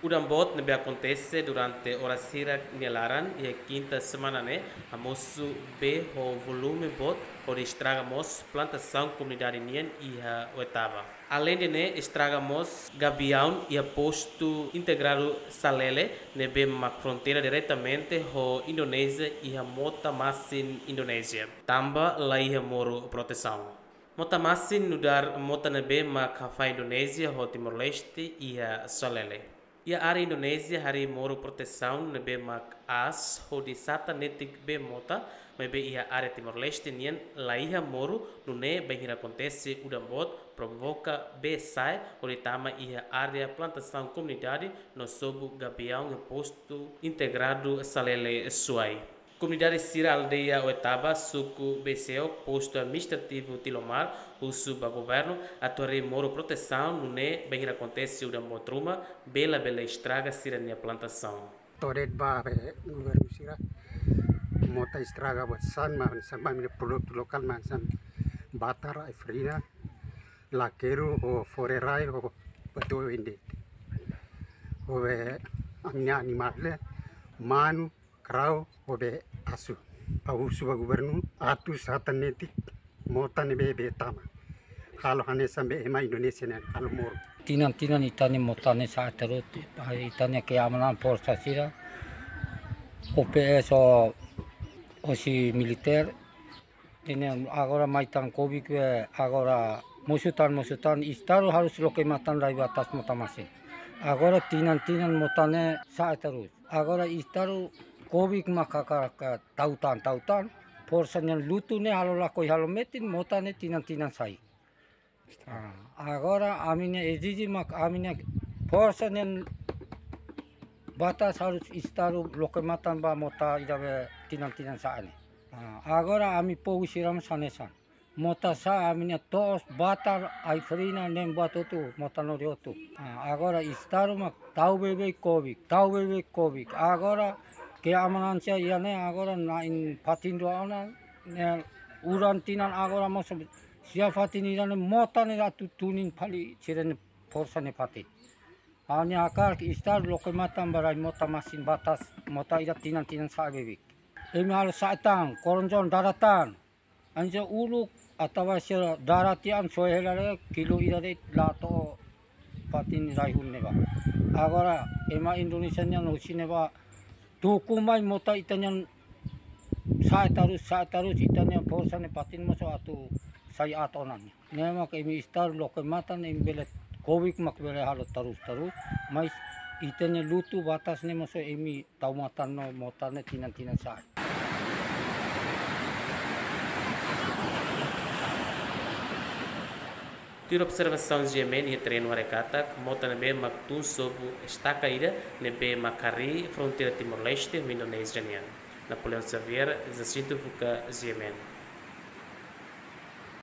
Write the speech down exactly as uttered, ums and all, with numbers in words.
Udan boot ne'ebé akontese durante oras hirak nia laran iha kinta semana ne'e, hamosu bee ho volume boot hodi estraga mós plantasaun komunidade nian iha Oetaba. Aleinde ne'e, estraga mós gabiaun iha postu integradu Salele, ne'ebé mak fronteira diretamente ho Indonézia iha mota masin Indonézia, tanba laiha moru protesaun. Mota masin nu'udar mota ne'ebé mak hafahe Indonézia ho Timor-Leste iha Salele. Iha área Indonézia harii moru protesaun ne'ebé mak aas hodi satan netik bee mota, maibé iha área Timor-Leste nian laiha moru, nune'e bainhira akontese udan boot provoka bee sa'e hodi tama iha área plantasaun komunidade no sobu gabiaun iha postu integradu Salele Suai. Komunidade sira aldeia Oetaba, suku Beseo, postu administrativu Tilomar, husu ba governu atu harii moru protesaun, nune'e bainhira akontese udan boot ruma, bee labele estraga sira-nia plantasaun. To'o de'it ba be governu sira, mota estraga buat sa'e, mak hanesan ami-nia produtu lokál mak hanesan batar, ai-farina, lakeru, ho fore rai, ho batu ende. Ho be ami-nia animál ne'e, manu, karau, ho be asu. Ha'u husu ba governu atu satan netik mota ne'ebé bee tama. Halo hanesan be ema Indonézia nian halo moru. Tinan-tinan ita-nia mota ne'e sa'e terus, ita-nia keamanan forsa sira, O P S ho, hosi militer, ita-nia agora mai tan Covid be agora mosu tan, mosu tan, Estadu harus loke matan rai batas mota masin. Agora tinan-tinan mota ne'e sa'e terus. Agora Estadu Covid mak hakarak tau tan, tau tan, forsa nian lutu ne'e halo lakohi, halo metin, mota ne'e tinan-tinan sai. Ah, agora ami-nia ezije mak ami-nia forsa nian batas harus Estadu loke matan ba mota ida be tinan-tinan sa'e ne'e. Ah, agora ami povu sira mós hanesan. Mota sa'e ami-nia to'os, batar, ai-farina, ne'e buat hotu, mota lori hotu. Ah, agora Estadu mak tau beibeik Covid, tau beibeik Covid. Agora keamanan sira iha ne'e agora na'in fatin rua ona, ne'e udan tinan agora mós sira fatin ida ne'e mota ne'e atu tunin fali sira-nia forsa nia fatin. Ha'u-nia hakarak Estadu loke matan ba rai mota masin batas, mota ida tinan-tinan sa'e beibeik. Imi halo sa'e tan, koronjon dada tan. Hanesan uluk atau sira dada tiha an soe hela de'it kilo ida de'it la to'o fatin rai hun ne'ebá. Agora ema Indonézia nian husi ne'ebá tuku mai mota ita-nian sa'e terus, sa'e terus, ita-nian forsa nia fatin mós atu sai aat ona. Ne'e mak imi Estadu loke matan, imi bele Covid mak bele halo terus-terus, mais ita-nia lutu batas ne'e mós imi tau matan no mota ne'e tinan-tinan sa'e. Tuir observasaun GMN iha terrenu haree katak mota ne'ebé mak tun sobu estaka ida ne'ebé mak harii fronteira Timor-Leste ho Indonézia nian. Napoleão Xavier, Jacinto Fuca, GMN.